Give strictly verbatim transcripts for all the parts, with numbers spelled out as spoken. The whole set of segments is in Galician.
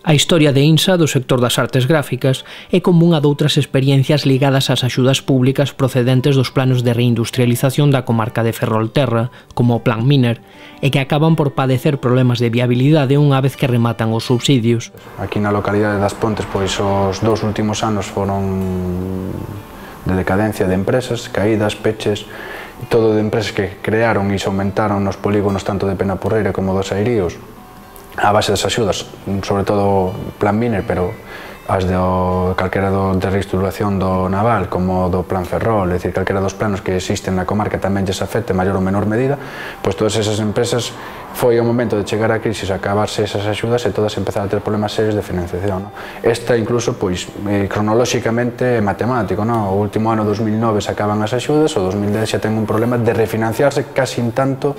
A historia de INSA do sector das artes gráficas é común a doutras experiencias ligadas ás axudas públicas procedentes dos planos de reindustrialización da comarca de Ferrolterra, como o Plan Miner, e que acaban por padecer problemas de viabilidade unha vez que rematan os subsidios. Aquí na localidade das Pontes, pois os dous últimos anos foron de decadencia de empresas, caídas, peches, todo de empresas que crearon e se aumentaron nos polígonos tanto de Penaporreira como dos Airíos, a base das axudas, sobre todo Plan Miner, pero as de calquera do, de reestruturación do naval como do Plan Ferrol, é dicir, calquera dos planos que existen na comarca tamén lles afecte en maior ou menor medida, pois todas esas empresas foi o momento de chegar á crisis, acabarse esas axudas e todas empezaron a ter problemas serios de financiación. No? Esta incluso, pois, eh, cronolóxicamente é matemático, no? O último ano dos mil nove se acaban as axudas, o dos mil dez xa ten un problema de refinanciarse casi en tanto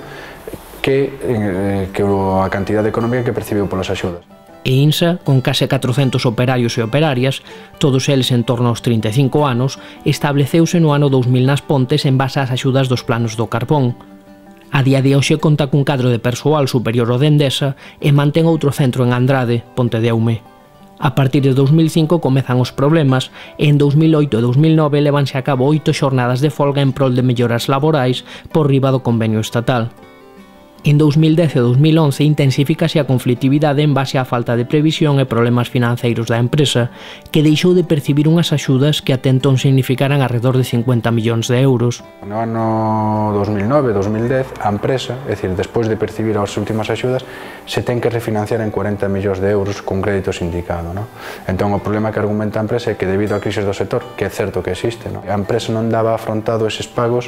que, eh, que a cantidade económica que percibiu polas axudas. E INSA, con case catrocentos operarios e operarias, todos eles en torno aos trinta e cinco anos, estableceuse no ano dous mil nas Pontes en base ás axudas dos planos do carbón. A día de hoxe conta cun cadro de persoal superior ao de Endesa e mantén outro centro en Andrade, Pontedeume. A partir de dous mil cinco comezan os problemas e en dous mil oito e dous mil nove levanse a cabo oito xornadas de folga en prol de melloras laborais por riba do convenio estatal. En dous mil dez e dous mil once intensifícase a conflitividade en base á falta de previsión e problemas financeiros da empresa, que deixou de percibir unhas axudas que até entón significaran arredor de cincuenta millóns de euros. No ano dos mil nove e dos mil dez, a empresa, é dicir, despois de percibir as últimas axudas, se ten que refinanciar en cuarenta millóns de euros con crédito sindicado. No? Entón, o problema que argumenta a empresa é que debido á crise do sector, que é certo que existe, no? a empresa non daba afrontado eses pagos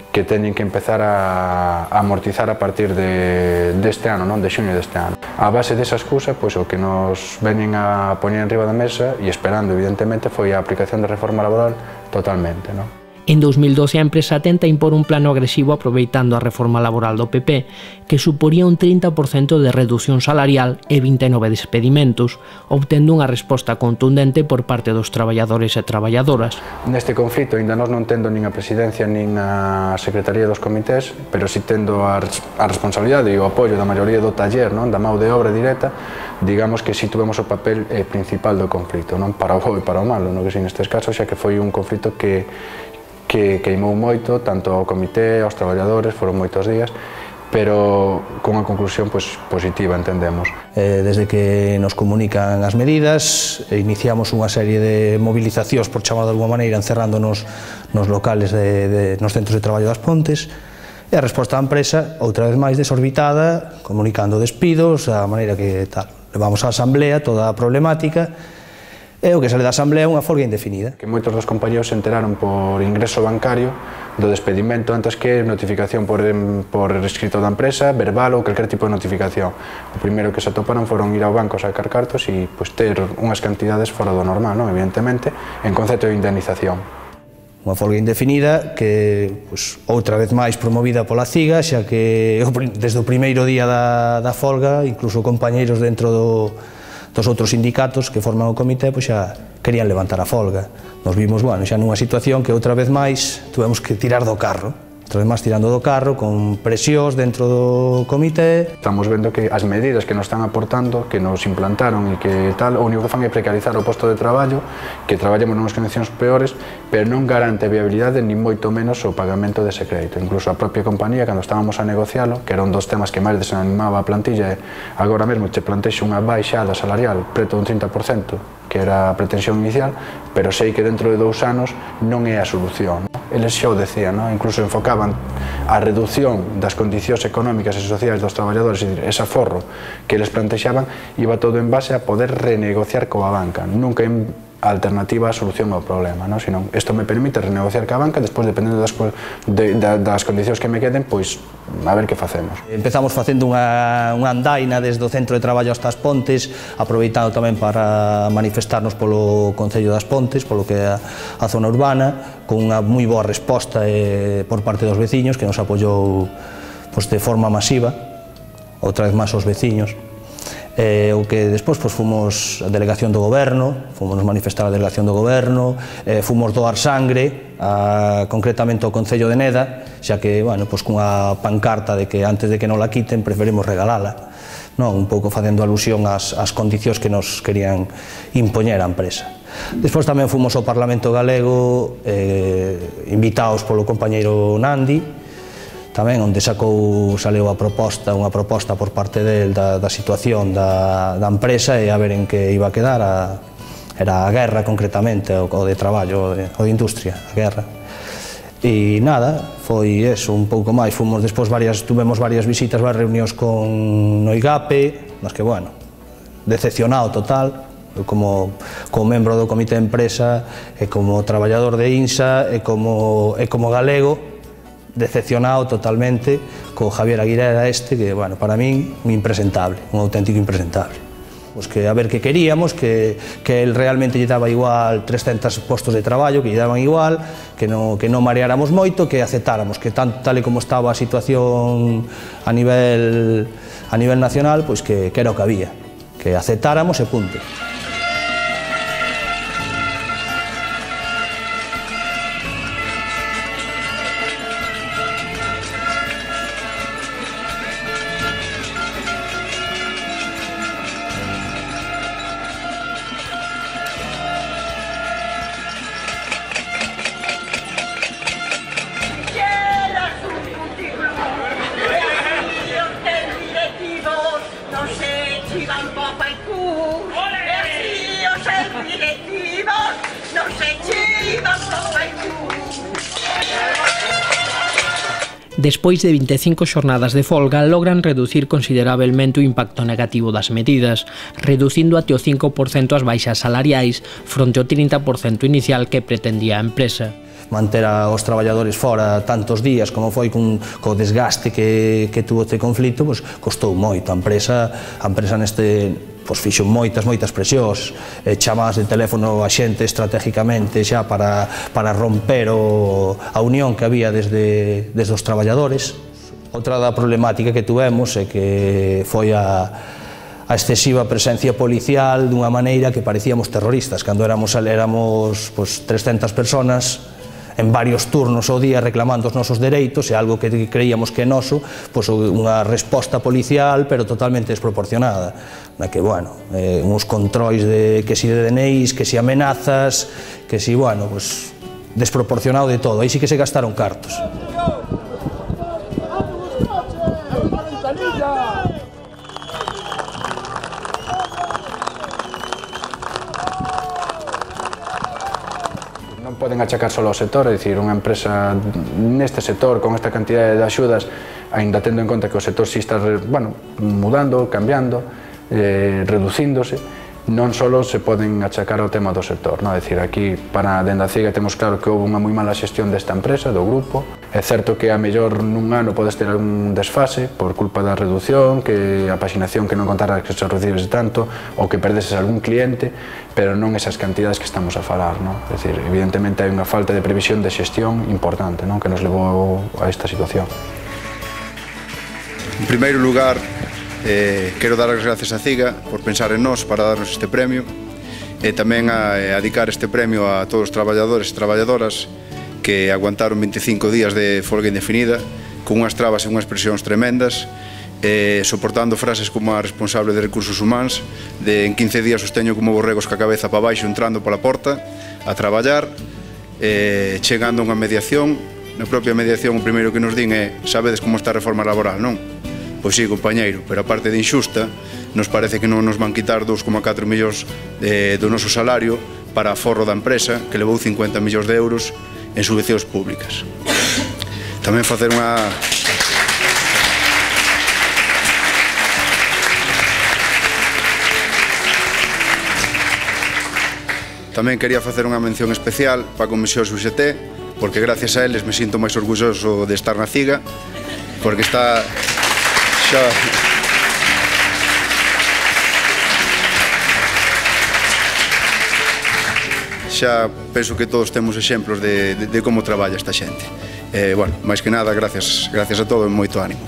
que teñen que empezar a, a amortizar a partir de, deste ano, non? De xuño deste ano. A base desa excusa, pois, o que nos veñen a poñer en riba da mesa e esperando, evidentemente, foi a aplicación da reforma laboral totalmente. Non? En dous mil doce a empresa tenta impor un plano agresivo aproveitando a reforma laboral do P P, que suporía un trinta por cento de reducción salarial e vinte e nove despedimentos, obtendo unha resposta contundente por parte dos traballadores e traballadoras. Neste conflito, ainda nós non tendo nin a presidencia nin a secretaría dos comités, pero si tendo a, a responsabilidade e o apoio da maioría do taller, non? Da mão de obra directa, digamos que si tuvemos o papel eh, principal do conflito, non? Para o bo e para o malo, non? Que si nestes casos xa que foi un conflito que que queimou moito, tanto ao comité, aos traballadores, foron moitos días, pero con unha conclusión pois, positiva, entendemos. Eh, desde que nos comunican as medidas, iniciamos unha serie de movilizacións, por chamar de alguma maneira, encerrándonos nos locales, de, de, nos centros de traballo das Pontes, e a resposta da empresa, outra vez máis desorbitada, comunicando despidos, a maneira que tal. Levamos á asamblea toda a problemática, e o que sale da asamblea é unha folga indefinida. Que moitos dos compañeros se enteraron por ingreso bancario do despedimento antes que notificación por, por escrito da empresa, verbal ou calquer tipo de notificación. O primeiro que se atoparon foron ir ao banco a sacar cartos e pois, ter unhas cantidades fora do normal, non? Evidentemente, en concepto de indemnización. Unha folga indefinida que, pois, outra vez máis promovida pola CIGA, xa que desde o primeiro día da, da folga, incluso compañeiros dentro do dos outros sindicatos que forman o comité pois xa querían levantar a folga. Nos vimos, bueno, xa nunha situación que outra vez máis tuvemos que tirar do carro. Outra vez máis tirando do carro, con presións dentro do comité. Estamos vendo que as medidas que nos están aportando, que nos implantaron e que tal, o único que fan é precarizar o posto de traballo, que traballemos nunhas condicións peores, pero non garante viabilidade ni moito menos o pagamento dese crédito. Incluso a propia compañía, cando estábamos a negocialo, que era un dos temas que máis desanimaba a plantilla, agora mesmo te plantexe unha baixada salarial preto dun trinta por cento, que era a pretensión inicial, pero sei que dentro de dous anos non é a solución. Eles xa o decían, non? Incluso enfocaban a reducción das condicións económicas e sociais dos traballadores, é dicir, ese aforro que eles plantexaban iba todo en base a poder renegociar coa banca, nunca en alternativa a solución ao problema, non? Senón, isto me permite renegociar ca banca, despois, dependendo das, de, das condicións que me queden, pois, a ver que facemos. Empezamos facendo unha, unha andaina desde o centro de traballo hasta as Pontes, aproveitando tamén para manifestarnos polo Concello das Pontes, polo que é a, a zona urbana, con unha moi boa resposta eh, por parte dos veciños, que nos apoiou pues, de forma masiva, outra vez máis os veciños. Eh, o que despois pues, fomos a delegación do goberno, fomos nos manifestar a delegación do goberno, eh, fomos doar sangre, a, concretamente ao Concello de Neda, xa que, bueno, pues, cunha pancarta de que antes de que non la quiten preferimos regalala. non? Un pouco facendo alusión ás, ás condicións que nos querían impoñer a empresa. Despois tamén fomos ao Parlamento Galego eh, invitados polo compañeiro Nandi, tamén onde sacou, saleu a proposta, unha proposta por parte del da, da situación da, da empresa e a ver en que iba a quedar a, era a guerra concretamente, o, o de traballo, o de, o de industria, a guerra. E nada, foi eso, un pouco máis, fomos despois varias, tuvemos varias visitas, varias reunións con no IGAPE, mas que, bueno, decepcionado total, como, como membro do comité de empresa, e como traballador de INSA, e como, e como galego, decepcionado totalmente co Javier Aguilera este, que, bueno, para min, un impresentable, un auténtico impresentable. Pues que a ver que queríamos, que, que él realmente lle daba igual trescentos postos de traballo, que lle daban igual, que non, que non mareáramos moito, que aceptáramos, que tan, tal e como estaba a situación a nivel, a nivel nacional, pues que, que era o que había, que aceptáramos e punto. Despois de vinte e cinco xornadas de folga, logran reducir considerablemente o impacto negativo das medidas, reducindo até o cinco por cento as baixas salariais fronte ao trinta por cento inicial que pretendía a empresa. Manter aos traballadores fora tantos días como foi con, co desgaste que, que tuvo este conflito, pues, costou moito. A empresa, a empresa neste pois fixo moitas, moitas presións, eh, chamadas de teléfono a xente estratégicamente xa para, para romper o, a unión que había desde, desde os traballadores. Outra da problemática que tuvemos é que foi a, a excesiva presencia policial dunha maneira que parecíamos terroristas, cando éramos, éramos pois, trescentas personas en varios turnos ao día reclamando os nosos dereitos, e algo que creíamos que é noso, pois unha resposta policial pero totalmente desproporcionada, na que, bueno, eh, uns controis de que si de D N Is, que si amenazas, que si, bueno, pois desproporcionado de todo, aí sí que se gastaron cartos. Non poden achacar só ao sector, é dicir, unha empresa neste sector, con esta cantidad de axudas, aínda tendo en conta que o sector si está, bueno, mudando, cambiando, eh, reducíndose, non só se poden achacar ao tema do sector, non? É dicir, aquí, para dende a CIGA, temos claro que houve unha moi mala xestión desta empresa, do grupo. É certo que a mellor nun ano podes ter un desfase por culpa da reducción, que a paxinación que non contara que se recibes tanto, ou que perdeses algún cliente, pero non esas cantidades que estamos a falar, non? É dicir, evidentemente hai unha falta de previsión de xestión importante, non? Que nos levou a esta situación. En primeiro lugar, eh, quero dar as gracias a CIGA por pensar en nós para darnos este premio, e tamén a, a dedicar este premio a todos os traballadores e traballadoras que aguantaron vinte e cinco días de folga indefinida, con unhas trabas e unhas presións tremendas, eh, soportando frases como a responsable de recursos humanos, de en quince días os teño como borregos ca cabeza para baixo entrando pola porta, a traballar, eh, chegando a unha mediación. Na propia mediación o primeiro que nos din é: sabedes como está a reforma laboral, non? Pois sí, compañeiro, pero a parte de inxusta, nos parece que non nos van quitar dous coma catro millóns de, do noso salario para a forro da empresa, que levou cincuenta millóns de euros en subvencións públicas. Tamén facer unha... Tamén quería facer unha mención especial para a Comisión U X T, porque gracias a eles me sinto máis orgulloso de estar na CIGA, porque está... xa... xa penso que todos temos exemplos de, de, de como traballa esta xente. Eh, bueno, máis que nada, gracias, gracias a todos e moito ánimo.